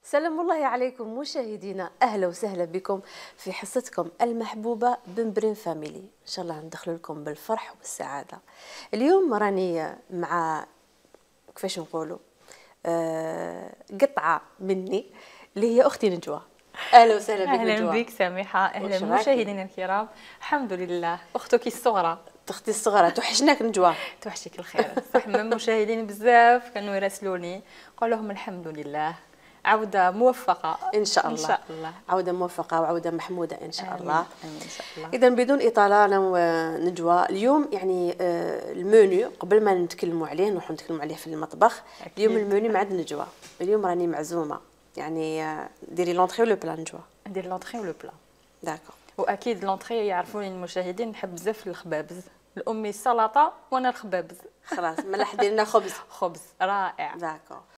سلام الله عليكم مشاهدينا، اهلا وسهلا بكم في حصتكم المحبوبه بمبرين فاميلي. ان شاء الله ندخل لكم بالفرح والسعاده. اليوم راني مع كيفاش نقولوا قطعه مني اللي هي اختي نجوى. اهلا وسهلا بك نجوى. اهلا بك سميحه، اهلا مشاهدينا الكرام. الحمد لله اختك الصغرى، اختي الصغرى توحشناك نجوى. توحشك الخير صح. من المشاهدين بزاف كانوا يراسلوني قال لهم الحمد لله عوده موفقه ان شاء الله. ان شاء الله عوده موفقه وعوده محموده ان شاء الله. امين ان شاء الله. اذا بدون اطاله انا ونجوى اليوم يعني المنيو قبل ما نتكلموا عليه نروحوا نتكلموا عليه في المطبخ. أكيد. اليوم المنيو مع نجوى. اليوم راني معزومه يعني ديري لونطري ولو بلا نجوى. ندير لونطري ولو بلا. داكور. واكيد لونطري يعرفوني المشاهدين نحب بزاف الخبابز، الامي السلطه وانا الخبابز. خلاص ملاح دير لنا خبز. خبز رائع. داكور.